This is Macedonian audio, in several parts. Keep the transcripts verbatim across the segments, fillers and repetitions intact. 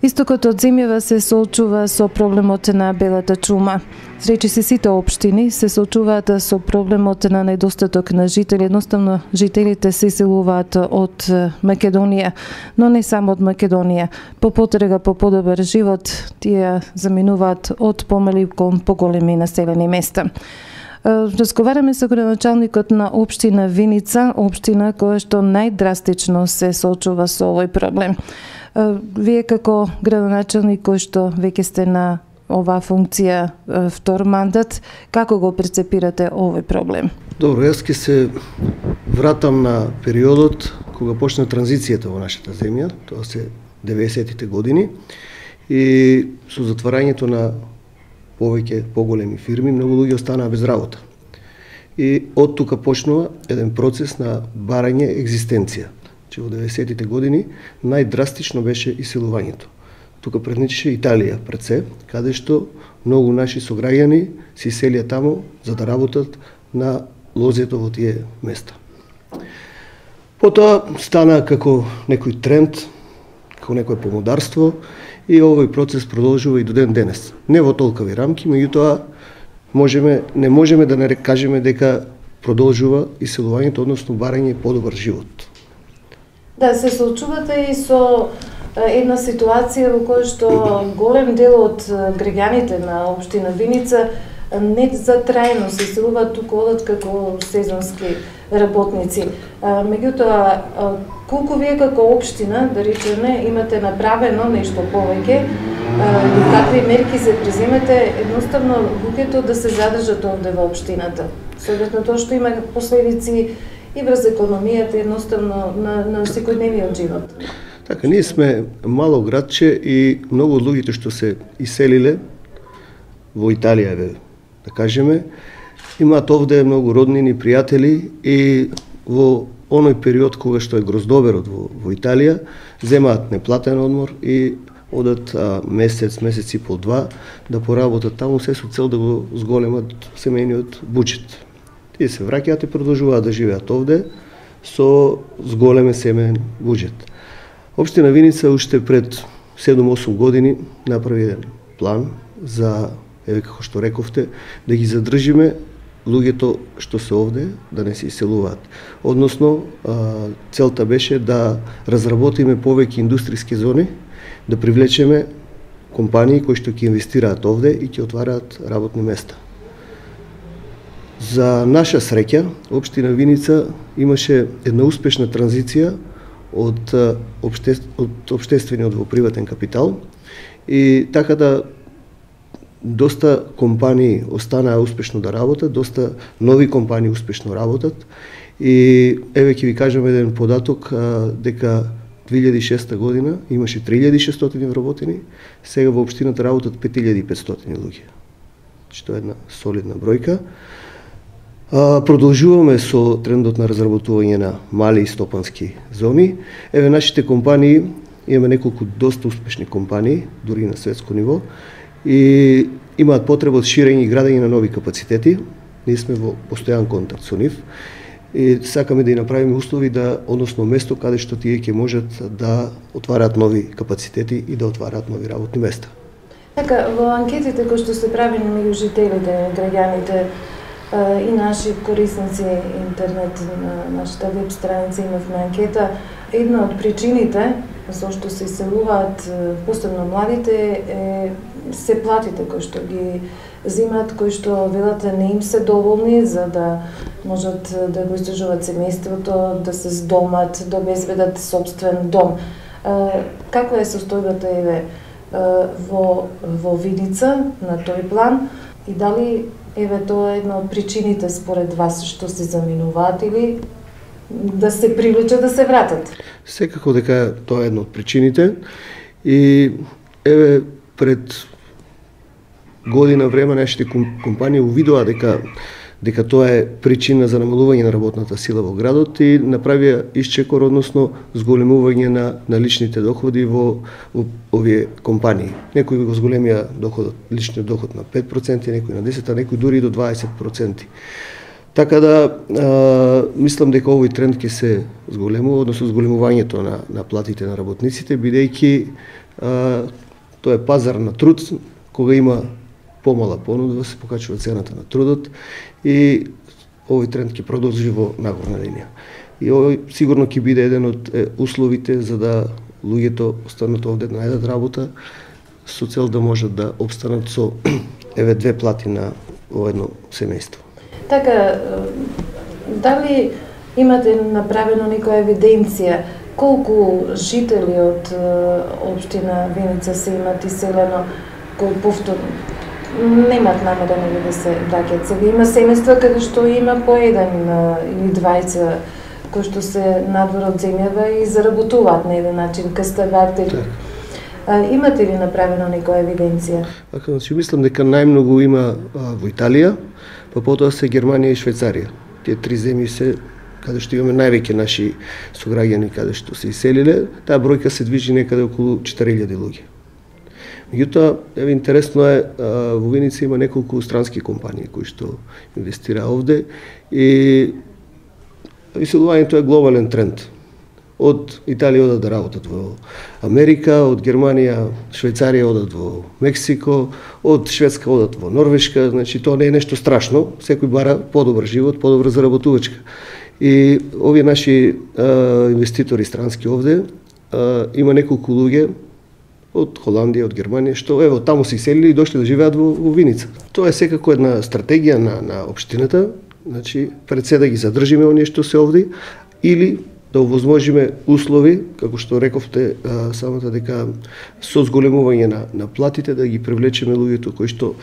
Истокот од земјава се соочува со проблемот на белата чума. Речиси сите општини се соочуваат со проблемот на недостаток на жители. Едноставно, жителите се иселуваат од Македонија, но не само од Македонија. По потрега по подобар живот, тие заминуваат од помали кон поголеми населени места. Разговараме со градоначалникот на општина Виница, општина која што најдрастично се соочува со овој проблем. Вие како градоначалник кој што веќе сте на оваа функција втор мандат, како го прецепирате овој проблем? Добро, јас ќе се вратам на периодот кога почна транзицијата во нашата земја, тоа се деветдесетите години, и со затварањето на повеќе поголеми фирми, многу луѓе останаа без работа. И од тука почнува еден процес на барање екзистенција. Че во деветдесетите години најдрастично беше иселувањето. Тука предничеше Италија пред се, каде што многу наши сограѓани се иселија таму за да работат на лозето во тие места. Потоа стана како некој тренд, како некој помодарство и овој процес продолжува и до ден денес. Не во толкови рамки, меѓутоа можеме не можеме да не кажеме дека продолжува иселувањето, односно барање подобар живот. Да, се соочувате и со една ситуација во која што голем дел од граѓаните на општина Виница не за трајно се иселуваат, туку одат како сезонски работници. Меѓутоа, колку вие како општина, да речеме, имате направено нешто повеќе, и какви мерки се преземате, едноставно луѓето да се задржат овде во општината, соодветно тоа што има последици и врз економијата, едноставно на, на секојдневниот живот. Така, ние сме мало градче и многу од луѓето што се иселиле во Италија, да кажеме, имаат овде многу роднини, пријатели и во оној период кога што е гроздоберот во, во Италија, земаат неплатен одмор и одат а, месец, месец и пол два да поработат таму, се со цел да го зголемат семејниот буџет. Тие се враќаат и продолжуваат да живеат овде со зголеме семеен буџет. Општина Виница уште пред седум-осум години направи еден план за, еве како што рековте, да ги задржиме луѓето што се овде, да не се иселуваат. Односно, целта беше да разработиме повеќе индустријски зони, да привлечеме компании кои што ќе инвестираат овде и ќе отвараат работни места. За наша среќа, општина Виница имаше една успешна транзиција од, обще, од обштествениот во приватен капитал и така да доста компании останаа успешно да работат, доста нови компании успешно работат и еве ќе ви кажам еден податок дека две илјади и шеста година имаше три илјади и шестстотини вработени, сега во општината работат пет илјади и петстотини луѓе. Што е една солидна бројка. Продолжуваме со трендот на разработување на мали и стопански зони. Еве нашите компании, имаме неколку доста успешни компании, дури и на светско ниво, и имаат потреба од ширење и градење на нови капацитети. Ние сме во постојан контакт со нив и сакаме да ја направиме услови да, односно место каде што тие ќе можат да отвараат нови капацитети и да отвараат нови работни места. Така, во анкетите кои што се правени меѓу жителите, граѓаните и наши корисници интернет на нашата веб страница имавме анкета, една од причините за што се иселуваат посебно младите е се платите кои што ги земаат, кои што велат не им се доволни за да можат да го издржуваат семејството, да се здомат, да обезбедат собствен дом. Каква е состојбата еве во во Виница на тој план и дали еве тоа е една од причините според вас што се заминуваат или да се привлечат да се вратат? Секако дека тоа е една од причините и еве пред година време нашите компании увидоа дека дека тоа е причина за намалување на работната сила во градот и направија исчекор, односно зголемување на, на личните доходи во, во овие компании. Некои го зголемија доходот, личниот доход на пет проценти, некои на десет, а некои дури и до дваесет проценти. Така да, а, мислам дека овој тренд ќе се зголемува, односно зголемувањето на, на платите на работниците, бидејќи а, тоа е пазар на труд, кога има помала понуда, се покачува цената на трудот и овој тренд ќе продолжи во нагорна линија. И овој сигурно ќе биде еден од е, условите за да луѓето останат овде да најдат работа со цел да можат да обстанат со еве две плати на во едно семејство. Така, дали имате направено некоја евиденција колку жители од општина Виница се имат иселено кои повторно немат намерено да се враќаат? Сега има семејства каде што има по еден или двајца кои што се надвор од земјава и заработуваат на еден начин, каставатели. Имате ли направено некоја евиденција? Така, значи мислам дека најмногу има а, во Италија, па потоа се Германија и Швајцарија. Тие три земји се каде што имаме највеќе наши сограѓани каде што се иселиле, таа бројка се движи некаде околу четири илјади луѓе. Меѓутоа, еве интересно е, а, во Виница има неколку странски компании кои што инвестира овде и иселувањето е глобален тренд. Од Италија одат да работат во Америка, од Германија, Швајцарија одат во Мексико, од Шведска одат во Норвешка, значи тоа не е нешто страшно, секој бара подобар живот, подобра заработувачка. И овие наши а, инвеститори странски овде, а, има неколку луѓе од Холандија, од Германија, што ево таму се иселили и дошли да живеат во, во Виница. Тоа е секако една стратегија на, на општината, значи пред се да ги задржиме оние што се овде, или да овозможиме услови, како што рековте а, самата дека со зголемување на, на платите да ги привлечеме луѓето кои што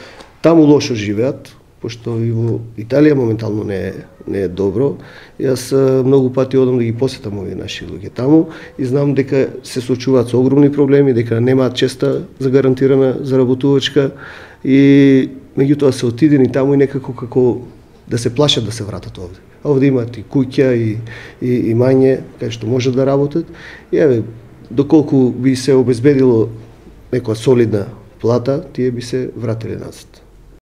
таму лошо живеат, пошто и во Италија моментално не е, не е добро. Јас а, многу пати одам да ги посетам овие наши луѓе таму и знам дека се соочуваат со огромни проблеми, дека немаат честа за гарантирана заработувачка и меѓутоа се отидени таму и некако како да се плашат да се вратат овде. А овде имаат и куќа и, и, и мање кај што можат да работат. И еве, доколку би се обезбедило некоја солидна плата, тие би се вратиле назад.